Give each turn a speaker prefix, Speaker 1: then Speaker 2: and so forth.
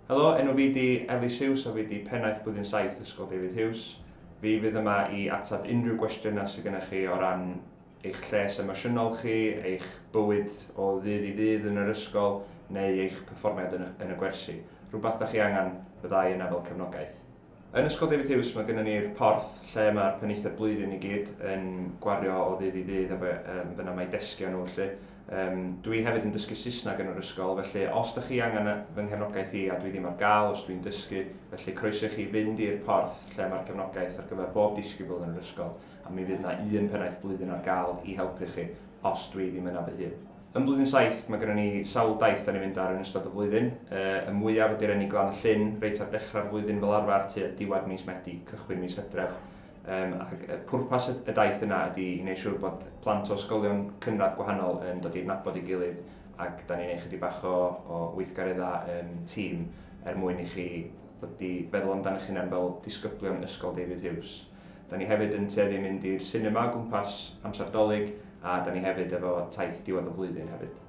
Speaker 1: Helo, enw fi di Elis Hughes a fi di pennaeth blwyddyn 7 Ysgol David Hughes. Fi fydd yma i ateb unrhyw gwestiynau sydd gennych chi o ran eich lles emosiynol chi, eich bywyd o ddydd i ddydd yn yr ysgol, neu eich perfformiad yn y gwersi. Rhywbeth da chi angen, fyddai yna fel cefnogaeth. Yn Ysgol David Hughes mae gennym ni'r porth lle mae'r penaethiaid blwyddyn i gyd yn gwario o ddydd i ddydd efo fyna mae desgiau nhw felly. Dwi hefyd yn dysgu Saesneg yn yr ysgol, felly os da chi angen fy nghefnogaeth i a dwi ddim ar gael os dwi'n dysgu, felly croeso i chi fynd i'r porth lle mae'r cefnogaeth ar gyfer bob disgybl yn yr ysgol, a mi fydd yna un pennaeth blwyddyn ar gael i helpu chi os dwi ddim yna fy hun. Yn blwyddyn 7, mae gennym ni sawl daith da ni'n mynd ar yn ystod y flwyddyn. Y mwyaf ydy'r enni Glan y Llyn, reit ar dechrau'r flwyddyn fel arfer, tua diwedd mis Medi, cychwyn mis Hydref. Ac pwrpas y daith yna ydy i wneud siŵr bod plant o ysgolion cynradd gwahanol yn dod i adnabod ei gilydd, ac da ni'n neud chydig bach o weithgareddau tîm er mwyn i chi ddod i feddwl amdano eich hunain fel disgyblion Ysgol David Hughes. Da ni hefyd yn tueddu mynd i'r sinema o gwmpas amser Dolig, a da ni hefyd efo taith diwedd y flwyddyn hefyd.